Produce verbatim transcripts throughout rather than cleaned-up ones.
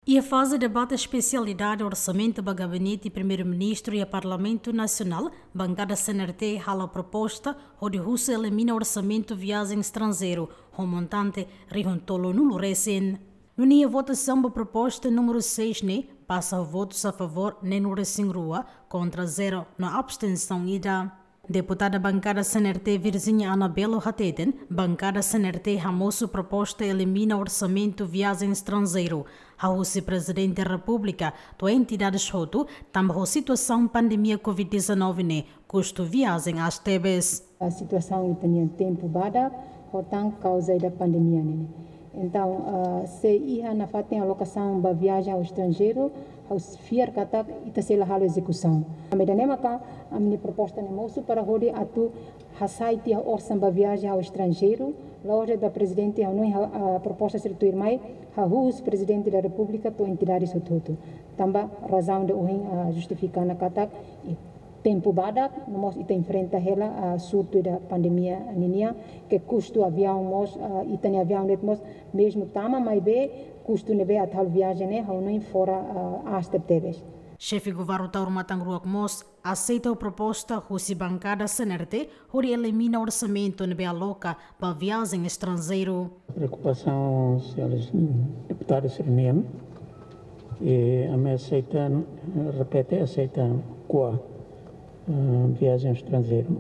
Iha faze debate espesialidade orsamentu ba Gabinete Primeiru-Ministru iha Parlamentu Nasionál, bankada C N R T hala'o proposta hodi husu elimina orsamentu viajen estranjeiru ho montante rihun tolunulu resin. Nune'e votasaun ba proposta númeru seis ne'e pasa ho votus a favór neenulu resin rua, kontra zero no abstensaun ida. Deputada bankada C N R T Virginia Anabelo hateten, bankada C N R T hamosu proposta elimina orsamentu viajen estranjeiru, hahú husi Prezidente Repúblika to'o entidades hotu, tanba ho situasaun pandemia covid dezanove ne'e kustu viajen aas tebes. A situasaun ita-nian tempu badak, ho tan kauza ida pandemia ne'e. Entaun, ah, se iha nafatin alokasaun ba viajen ao estranjeiru, ha'u fiar katak ita sei la halo ezekusaun. Ami ida-ne'e maka ami-nia proposta ne'e mosu para hodi atu hasai tiha orsan ba viajen ao estranjeiru, la'ós de'it ba Prezidente, ha'u hanoin ha-, ah, proposta sira tuirmai, hahú husi Prezidente da Repúblika to'o entidades hotu-hotu. Tanba razaun ida ohin, ah, justifika ona katak, i tempu badak, no mós ita enfrenta hela, ah, surtu ida pandemia ninian, ke kustu aviaun mós, ah, ita-nia aviaun de'it mós, mezmu tama maibé, kustu ne'ebé atu halo viajen ne'e, ha'u hanoin fora, ah, aas tebetebes. Xefe Governu Taur Matan Ruak mós aseita proposta husi bankada C N R T hodi elimina orsamentu ne'ebé aloka ba viajen estranjeiru. Preokupasaun sira, deputadu sira-nian, i ami aseita, repete, aseita kua, eh, viajen estranjeiru.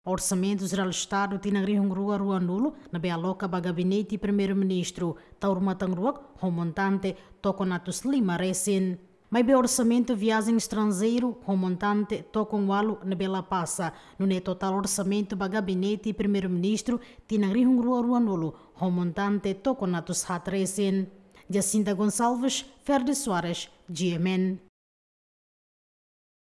Orsamentu Jerál Estadu tinan rihun rua ruanulu ne'ebé aloka ba Gabinete Primeiru-Ministru Taur Matan Ruak ho montante tokon atus lima resin. Maibé orsamentu viajen estranjeiru ho montante tokon ualu ne'ebé la pasa, nune'e totál orsamentu ba Gabinete Primeiru-Ministru tinan rihun rua ruanulu ho montante tokon atus haat resin. Jacinta Gonçalves, Ferdi Soares, G M N.